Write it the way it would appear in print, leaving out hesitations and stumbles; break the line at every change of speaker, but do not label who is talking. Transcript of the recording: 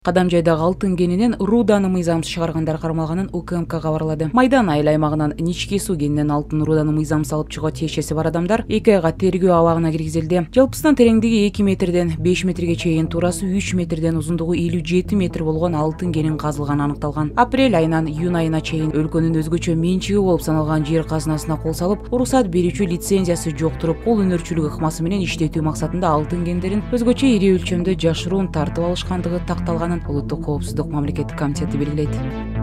Кадамжайдагы алтын кенинен руданы мыйзамсыз чыгаргандар кармалганын УКМК кабарлады. Майдан айыл аймагынан Ничке суу кенинен алтын руданы мыйзамсыз алып чыгууга тиешеси бар адамдар 2 айга тергөө абагына киргизилди. Жалпысынан тереңдиги 2 метрден 5 метрге чейин, туурасы 3 метрден, узундугу 57 метр болгон алтын кенин казылганы аныкталган. Апрель айынан июнь айына чейин өлкөнүн өзгөчө менчиги болуп саналган жер казынасына кол салып, уруксат берүүчү лицензиясы жок туруп, кол өнөрчүлүк ыкмасы менен иштетүү максатында алтын кендерин өзгөчө ири өлчөмдө жашыруун тартып алышкандыгы такталганын Улуттук коопсуздук мамлекеттик комитети белгилейт.